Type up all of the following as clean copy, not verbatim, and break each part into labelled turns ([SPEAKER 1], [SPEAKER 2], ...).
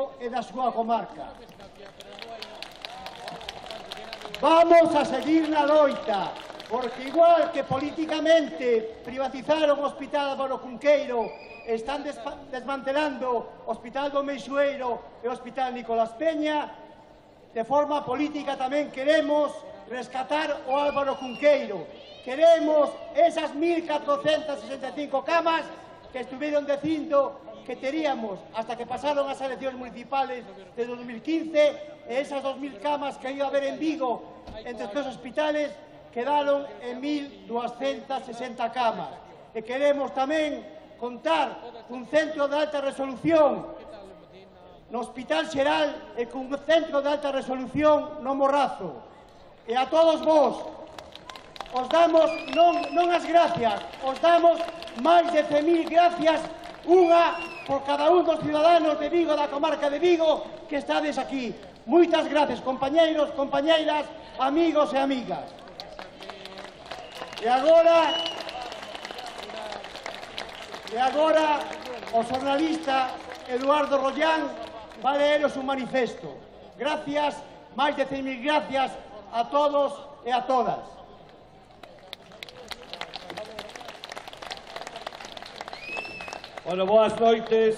[SPEAKER 1] Vigo e da súa comarca. Vamos a seguir na loita, porque igual que políticamente privatizaron o Hospital Álvaro Cunqueiro, están desmantelando o Hospital do Meixoeiro e o Hospital Nicolás Peña, de forma política tamén queremos rescatar o Álvaro Cunqueiro. Queremos esas 1.465 camas que estuveron dicindo que teríamos hasta que pasaron as eleccións municipales de 2015 e esas 2.000 camas que iba a haber en Vigo entre os dos hospitales quedaron en 1.260 camas. E queremos tamén contar cun centro de alta resolución no Hospital Xeral e cun centro de alta resolución no Morrazo. E a todos vos os damos non as gracias, os damos máis de 100.000 gracias, unha por cada un dos ciudadanos de Vigo, da comarca de Vigo, que estades aquí. Moitas gracias, compañeiros, compañeiras, amigos e amigas. E agora o xornalista Eduardo Rollán va a leeros un manifesto. Gracias, máis de 100.000 gracias a todos e a todas.
[SPEAKER 2] Bueno, boas noites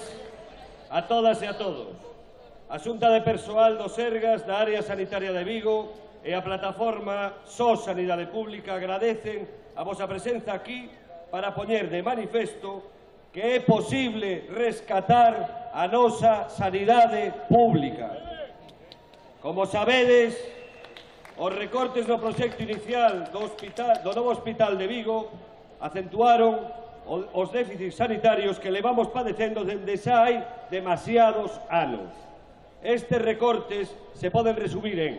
[SPEAKER 2] a todas e a todos. A Xunta de Persoal do Sergas da Área Sanitaria de Vigo e a plataforma SOS Sanidade Pública agradecen a vosa presenza aquí para poñer de manifesto que é posible rescatar a nosa sanidade pública. Como sabedes, os recortes no proxecto inicial do novo hospital de Vigo acentuaron os déficits sanitarios que levamos padecendo dende xa hai demasiados anos. Estes recortes se poden resumir en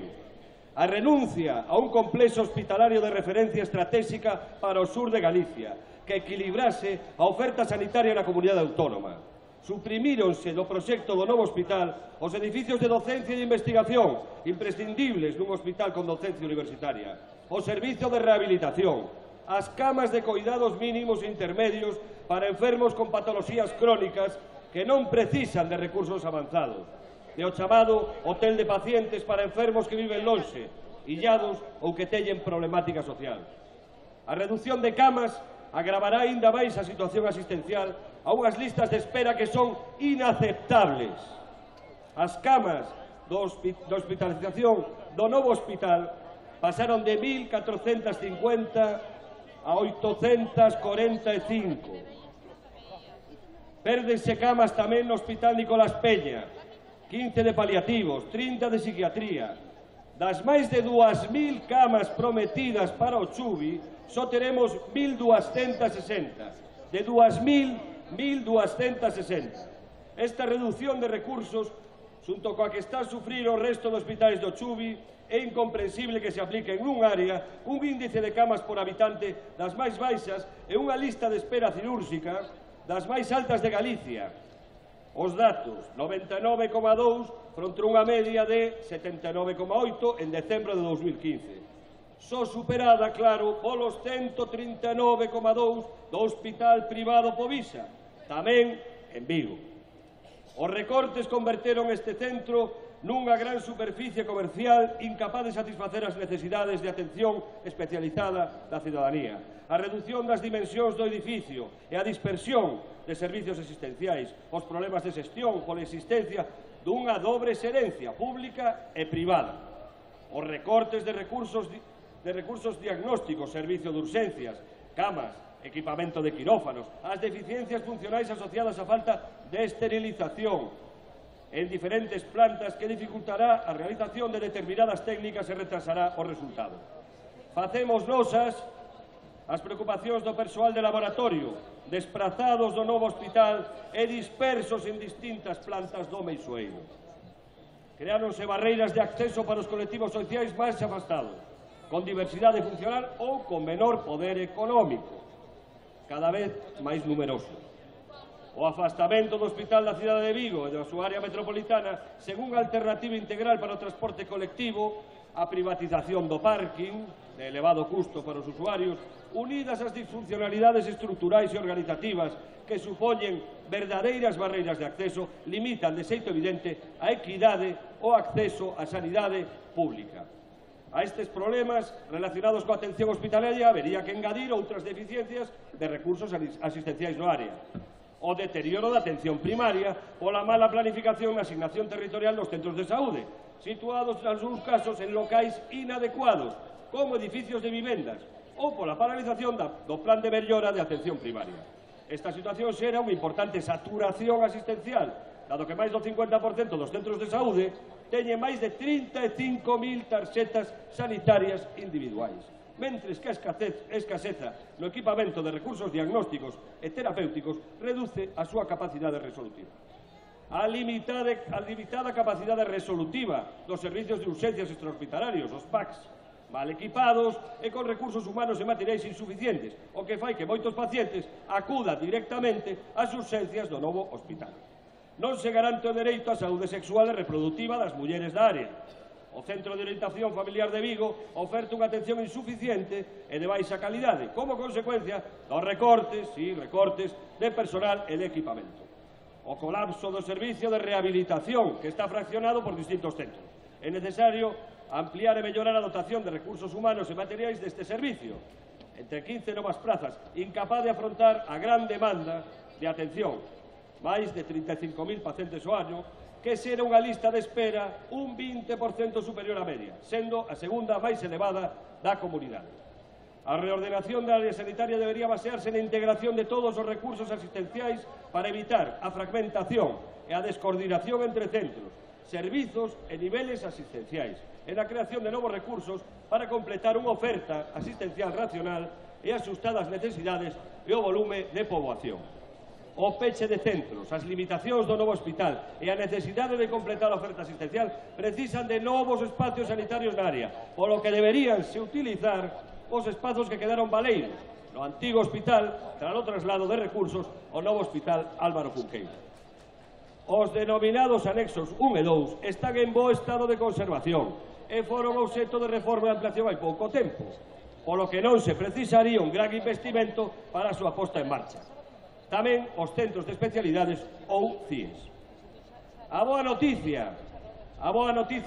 [SPEAKER 2] a renuncia a un complexo hospitalario de referencia estratégica para o sur de Galicia, que equilibrase a oferta sanitaria na comunidade autónoma. Suprimíronse do proxecto do novo hospital os edificios de docencia e de investigación imprescindibles nun hospital con docencia universitaria, o servizo de rehabilitación, as camas de coidados mínimos e intermedios para enfermos con patoloxías crónicas que non precisan de recursos avanzados, e o chamado hotel de pacientes para enfermos que viven lonxe, illados ou que teñen problemática social. A reducción de camas agravará aínda máis a situación asistencial a unhas listas de espera que son inaceptables. As camas de hospitalización do novo hospital pasaron de 1.450 a 845. Pérdense camas tamén no Hospital Nicolás Peña, 15 de paliativos, 30 de psiquiatría. Das máis de 2.000 camas prometidas para o Chubi, só teremos 1.260. De 2.000, 1.260. Esta reducción de recursos, xunto coa que está a sufrir o resto dos hospitais do Chubi, é incomprensible que se aplique en un área un índice de camas por habitante das máis baixas e unha lista de espera cirúrxica das máis altas de Galicia. Os datos, 99,2 fronte unha media de 79,8 en decembro de 2015. Só superada, claro, polos 139,2 do Hospital Privado Povisa, tamén en Vigo. Os recortes converteron este centro nunha gran superficie comercial incapaz de satisfacer as necesidades de atención especializada da cidadanía. A reducción das dimensións do edificio e a dispersión de servicios existenciais, os problemas de xestión pola existencia dunha dobre xerencia pública e privada. Os recortes de recursos diagnósticos, servicio de urxencias, camas, equipamento de quirófanos, as deficiencias funcionais asociadas á falta de esterilización en diferentes plantas que dificultará a realización de determinadas técnicas e retrasará o resultado. Facemos nosas as preocupacións do persoal de laboratorio, desprazados do novo hospital e dispersos en distintas plantas do Meixoeiro. Creáronse barreiras de acceso para os colectivos sociais máis afastados, con diversidade funcional ou con menor poder económico, cada vez máis numerosos. o afastamento do Hospital da cidade de Vigo e da súa área metropolitana sen unha alternativa integral para o transporte colectivo, a privatización do parking, de elevado custo para os usuarios, unidas ás disfuncionalidades estruturais e organizativas que supoñen verdadeiras barreiras de acceso, limitan de xeito evidente a equidade o acceso á sanidade pública. A estes problemas relacionados coa atención hospitalaria habería que engadir outras deficiencias de recursos asistenciais no área. O deterioro da atención primaria pola mala planificación na asignación territorial dos centros de saúde, situados, nalgúns casos, en locais inadecuados, como edificios de vivendas, ou pola paralización do plan de mellora de atención primaria. Esta situación xera unha importante saturación asistencial, dado que máis do 50% dos centros de saúde teñen máis de 35.000 tarxetas sanitarias individuais, mentres que a escaseza no equipamento de recursos diagnósticos e terapéuticos reduce a súa capacidade resolutiva. A limitada capacidade resolutiva dos servicios de urxencias extrahospitalarios, os PACs, mal equipados e con recursos humanos e materiais insuficientes, o que fai que moitos pacientes acudan directamente ás urxencias do novo hospital. Non se garante o dereito á saúde sexual e reproductiva das mulleres da área. O Centro de Orientación Familiar de Vigo oferta unha atención insuficiente e de baixa calidade, como consecuencia dos recortes de personal e de equipamento. O colapso do servicio de rehabilitación, que está fraccionado por distintos centros. É necesario ampliar e mellorar a dotación de recursos humanos e materiais deste servicio, entre 15 novas prazas, incapaz de afrontar a gran demanda de atención, máis de 35.000 pacientes ao ano, que xera unha lista de espera un 20% superior á media, sendo a segunda máis elevada da comunidade. A reordenación da área sanitaria debería basearse na integración de todos os recursos asistenciais para evitar a fragmentación e a descoordinación entre centros, servizos e niveles asistenciais, e na creación de novos recursos para completar unha oferta asistencial racional e axustada ás necesidades e o volume de poboación. O peche de centros, as limitacións do novo hospital e a necesidade de completar a oferta asistencial precisan de novos espacios sanitarios na área, polo que deberían se utilizar os espazos que quedaron baleiros no antigo hospital tras o traslado de recursos ao novo hospital Álvaro Cunqueiro. Os denominados anexos 1 e 2 están en bo estado de conservación e foron obxecto de reforma e ampliación hai pouco tempo, polo que non se precisaría un gran investimento para a súa posta en marcha. Tamén os centros de especialidades ou CIES. A boa noticia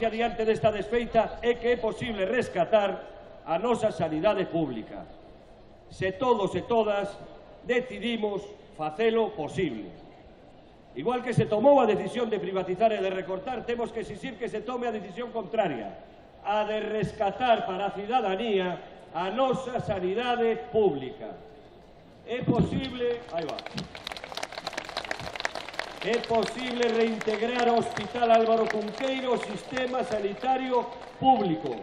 [SPEAKER 2] diante desta desfeita é que é posible rescatar a nosa sanidade pública, se todos e todas decidimos facelo posible. Igual que se tomou a decisión de privatizar e de recortar, temos que exixir que se tome a decisión contraria, a de rescatar para a cidadanía a nosa sanidade pública. É posible reintegrar ao Hospital Álvaro Cunqueiro o sistema sanitario público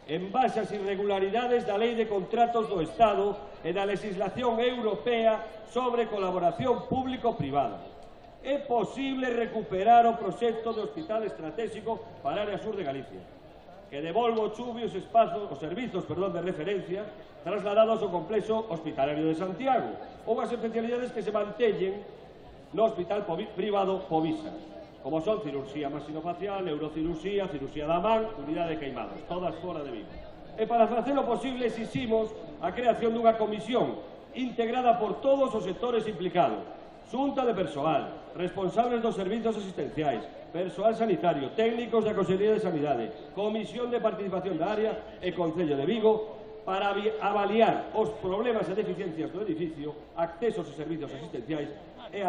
[SPEAKER 2] en base ás irregularidades da Lei de Contratos do Estado e da legislación europea sobre colaboración público-privada. É posible recuperar o proxecto do Hospital Estratégico para a área sur de Galicia, que devolva ao Chubi os servizos de referencia trasladados ao complexo hospitalario de Santiago ou as especialidades que se manteñen no hospital privado Povisa, como son cirurxía maxinofacial, neurocirurxía, cirurxía da man, unidade de queimados, todas fora de Vigo. E para facelo posible exiximos a creación dunha comisión integrada por todos os sectores implicados, xunta de persoal, responsables dos servizos asistenciais, persoal sanitario, técnicos da Consellería de Sanidade, Comisión de Participación da Área e Concello de Vigo, para avaliar os problemas e deficiencias do edificio, accesos e servizos asistenciais e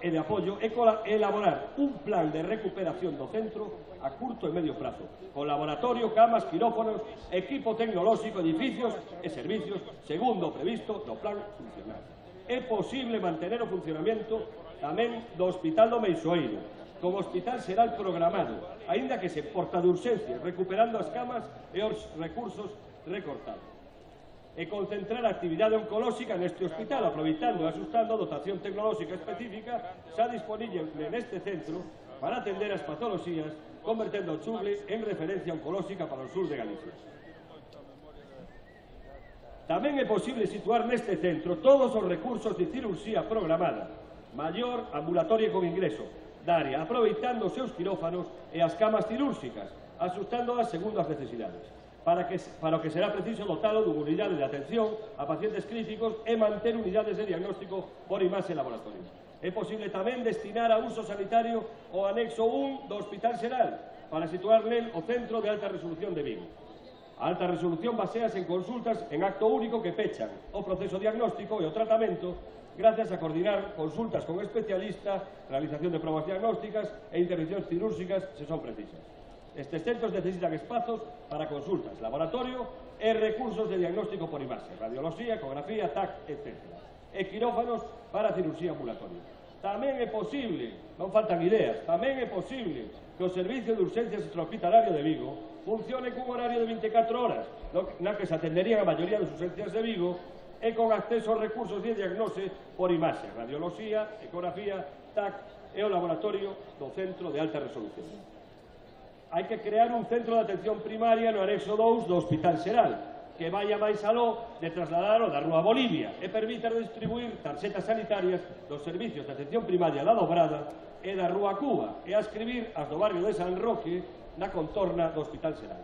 [SPEAKER 2] de apoio e elaborar un plan de recuperación do centro a curto e medio prazo, con laboratorio, camas, quirófanos, equipo tecnolóxico, edificios e servicios, segundo o previsto no plan funcional. É posible mantener o funcionamento tamén do Hospital do Meixoeiro, como hospital xeral programado, aínda que se porta de urxencia, recuperando as camas e os recursos recortados. E concentrar a actividade oncolóxica neste hospital, aproveitando e asustando a dotación tecnolóxica específica xa disponible neste centro para atender as patoloxías, convertendo o Chuble en referencia oncolóxica para o sur de Galicia. Tamén é posible situar neste centro todos os recursos de cirurxía programada, maior ambulatorio con ingreso da área, aproveitando os seus quirófanos e as camas cirúrxicas, asustándoas segundo as necesidades, para o que será preciso dotalo dunha unidade de atención a pacientes críticos e manter unidades de diagnóstico por imaxe e laboratorio. É posible tamén destinar a uso sanitario o anexo 1 do Hospital Xeral para situar nel o Centro de Alta Resolución de Vigo. A alta resolución baseas en consultas en acto único que pechan o proceso diagnóstico e o tratamento gracias a coordinar consultas con especialistas, realización de probas diagnósticas e intervencións cirúrxicas se son precisas. Estes centros necesitan espazos para consultas, laboratorio e recursos de diagnóstico por imaxe, radioloxía, ecografía, TAC, etc. E quirófanos para cirurxía ambulatoria. Tamén é posible, non faltan ideas, tamén é posible que o Servicio de Urxencias Extrahospitalario de Vigo funcione cun horario de 24 horas, na que se atenderían a maioría das urxencias de Vigo e con acceso aos recursos de diagnose por imaxe, radioloxía, ecografía, TAC e o laboratorio do Centro de Alta Resolución. Hai que crear un centro de atención primaria no anexo 2 do Hospital Xeral, que vaya máis aló de trasladar da Rúa Bolivia e permita distribuir tarxetas sanitarias dos servicios de atención primaria da Dobrada e da Rúa Cuba e a escribir as do barrio de San Roque na contorna do Hospital Xeral.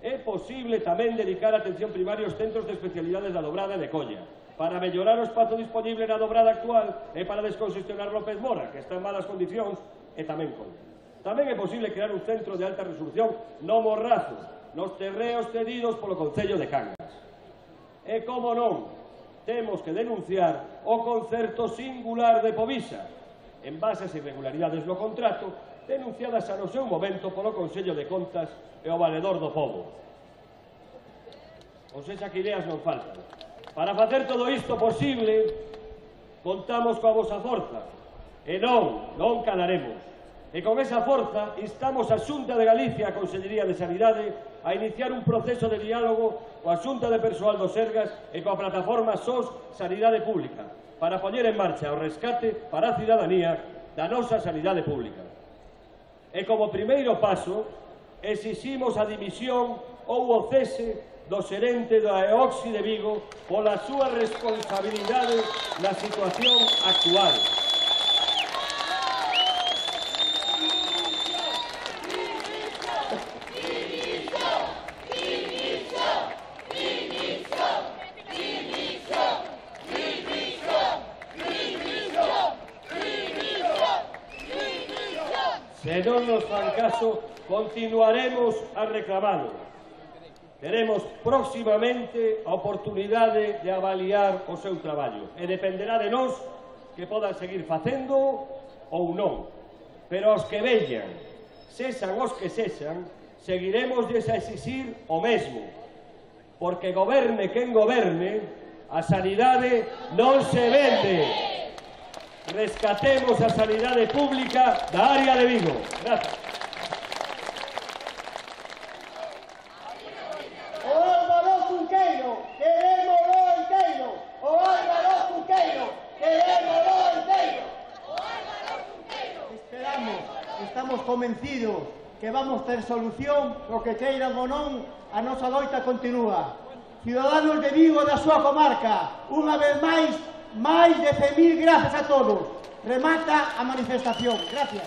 [SPEAKER 2] É posible tamén dedicar atención primaria aos centros de especialidades da Dobrada e de Colla, para mellorar o espazo disponible na Dobrada actual e para descongestionar López Mora, que está en malas condicións, e tamén Colla. Tamén é posible crear un centro de alta resolución no Morrazo, nos terreos cedidos polo Concello de Cangas. E, como non, temos que denunciar o concerto singular de Povisa, en base ás irregularidades no contrato, denunciadas a no seu momento polo Consello de Contas e o Valedor do Pobo. Ou sexa, que ideas non faltan. Para facer todo isto posible, contamos coa vosa forza, e non calaremos. E con esa forza instamos a Xunta de Galicia e a Consellería de Sanidade a iniciar un proceso de diálogo coa Xunta de Persoal do Sergas e coa plataforma SOS Sanidade Pública para poñer en marcha o rescate para a cidadanía da nosa sanidade pública. E como primeiro paso, exiximos a dimisión ou o cese do xerente da EOXI de Vigo pola súa responsabilidade na situación actual. Se non nos fan caso, continuaremos a reclamalo. Teremos próximamente a oportunidade de avaliar o seu traballo e dependerá de nós que podan seguir facendo ou non. Pero os que veñan, sexan os que sexan, seguiremos a exixir o mesmo, porque goberne quen goberne, a sanidade non se vende. Rescatemos a sanidade pública da área de Vigo. Gracias.
[SPEAKER 1] O Álvaro Cunqueiro, querémolo inteiro. O Álvaro Cunqueiro, querémolo inteiro. O Álvaro Cunqueiro. Esperamos, estamos convencidos que vamos ter solución, o que queiran ou non, a nosa loita continúa. Ciudadanos de Vigo da súa comarca, unha vez máis de 100.000 grazas a todos. Remata a manifestación. Gracias.